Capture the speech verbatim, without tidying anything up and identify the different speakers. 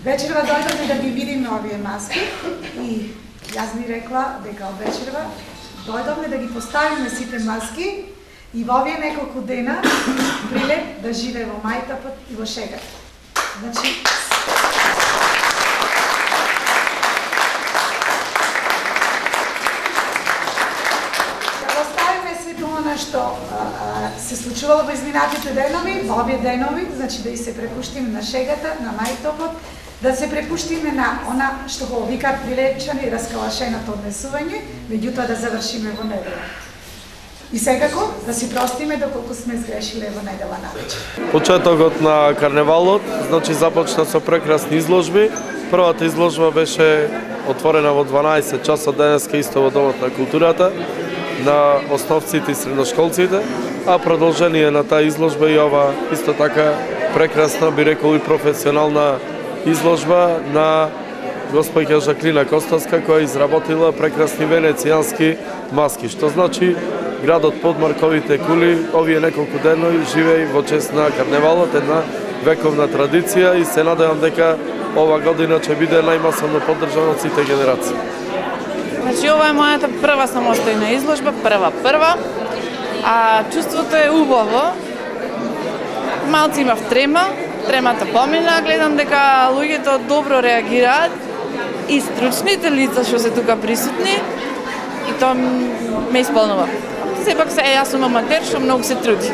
Speaker 1: Вечерва дојдовме да ги видиме овие маски и јас ми рекла дека од вечерва дојдовме да ги поставиме сите маски и во овие неколку дена прилеп да живее во мајтапот и во шегата. Значи, да оставиме сето она што а, а, се случувало во изминатите денови, во овие денови, значи да и се препуштиме на шегата, на мајтопот, да се препуштиме на она што го викаат прилепчани раскалашеното однесување, меѓутоа да завршиме во недела. И секако да си простиме доколку сме сгрешиле во недела навечер.
Speaker 2: Почетокот на карневалот, значи започна со прекрасни изложби. Првата изложба беше отворена во дванаесет часот денеска исто во Домот на културата на основците и средношколците, а продолжение на таа изложба и ова исто така прекрасна, би рекол и професионална изложба на госпоѓа Жаклина Костовска, која изработила прекрасни венецијански маски, што значи градот под марковите кули овие неколку денови живее во чест на карневалот, една вековна традиција и се надевам дека ова година ќе биде најмасовно поддржана од сите генерации.
Speaker 3: Значи ова е мојата прва самостојна изложба, прва прва, а чувството е убаво. Малци имав трема, тремата помина, гледам дека луѓето добро реагираат и стручните лица што се тука присутни и тоа ме исполнува. Сепак се јас сум аматер што многу се труди.